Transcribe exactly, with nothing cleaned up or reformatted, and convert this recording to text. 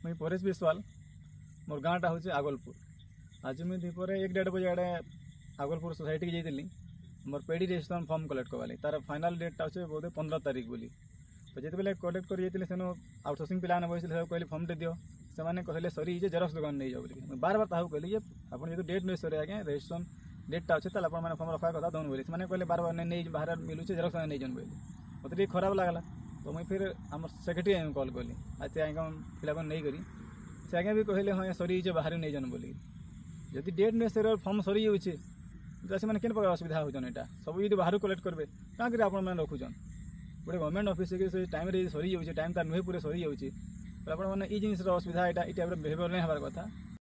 ମୁଇଁ ପରେଶ ବିଶ୍ୱାଲ, ମୋର୍ ଗାଁଟା ହଉଛେ ଆଗଲପୁର। ଆଜି ମୁଇଁ ଦ୍ୱିପହରେ ଏକ ଦେଢ଼ ବଜେ ଆଡ଼େ ଆଗଲପୁର ସୋସାଇଟିକି ଯାଇଥିଲି ମୋର୍ ପେଡ଼ି ରେଜିଷ୍ଟ୍ରେସନ୍ ଫର୍ମ କଲେକ୍ଟ କର୍ବାର୍ ଲାଗି। ତାର ଫାଇନାଲ୍ ଡେଟ୍ଟା ଅଛେ ବୋଧେ ପନ୍ଦର ତାରିଖ ବୋଲି। ତ ଯେତେବେଲେ କଲେକ୍ଟ କରି ଯାଇଥିଲି, ସେନୁ ଆଉଟସୋର୍ସିଂ ପିଲାମାନେ ବସିଥିଲେ, ତାକୁ କହିଲି ଫର୍ମଟେ ଦିଅ। ସେମାନେ କହିଲେ ସରିଯାଇଛେ, ଜେରକ୍ସ ଦୋକାନ ନେଇଯାଅ ବୋଲିକି। ମୁଇଁ ବାର ବାର ତାହାକୁ କହିଲି ଯେ ଆପଣ ଯେହେତୁ ଡେଟ୍ ନୁହେଁ ସରେ ଆଜ୍ଞା, ରେଜିଷ୍ଟ୍ରେସନ୍ ଡେଟ୍ଟା ଅଛେ, ତାହେଲେ ଆପଣମାନେ ଫର୍ମ ରଖବା କଥା ଦଉନ୍ ବୋଲି। ସେମାନେ କହିଲେ ବାର ବାର ନାଇଁ, ନେଇ ବାହାରେ ମିଲୁଛେ, ଜେରକ୍ସ ନେଇଯାଉନ୍ ବୋଇଲେ। ମୋତେ ଟିକେ ଖରାପ ଲାଗଲା। ତ ମୁଇଁ ଫିର୍ ଆମର୍ ସେକ୍ରେଟାରୀ ଆଜ୍ଞା କଲ୍ କଲି, ଆଉ ସେ ଆଜ୍ଞା ପିଲାକୁ ନେଇକରି ସେ ଆଜ୍ଞା ବି କହିଲେ ହଁ ସରିଯାଇଛେ, ବାହାରେ ନେଇଯାଉନ୍ ବୋଲି। ଯଦି ଡେଟ୍ ନୁହେଁ ସରେ ଫର୍ମ ସରିଯାଉଛେ, ତ ସେମାନେ କେନ୍ ପ୍ରକାର ଅସୁବିଧା ହଉଛନ୍? ଏଇଟା ସବୁ ଯଦି ବାହାରୁ କଲେକ୍ଟ କରିବେ, କାଁ କରି ଆପଣମାନେ ରଖୁଛନ୍? ଗୋଟେ ଗଭର୍ଣ୍ଣମେଣ୍ଟ ଅଫିସ୍ ସେ ଟାଇମ୍ରେ ଯଦି ସରିଯାଉଛେ, ଟାଇମ୍ ତାର ନୁହେଁ ପୁରା ସରିଯାଉଛି, ଆପଣମାନେ ଏଇ ଜିନିଷର ଅସୁବିଧା, ଏଇଟା ଏଇ ଟାଇପ୍ର ବିହେଭିଅର୍ ନାଇଁ ହେବାର କଥା।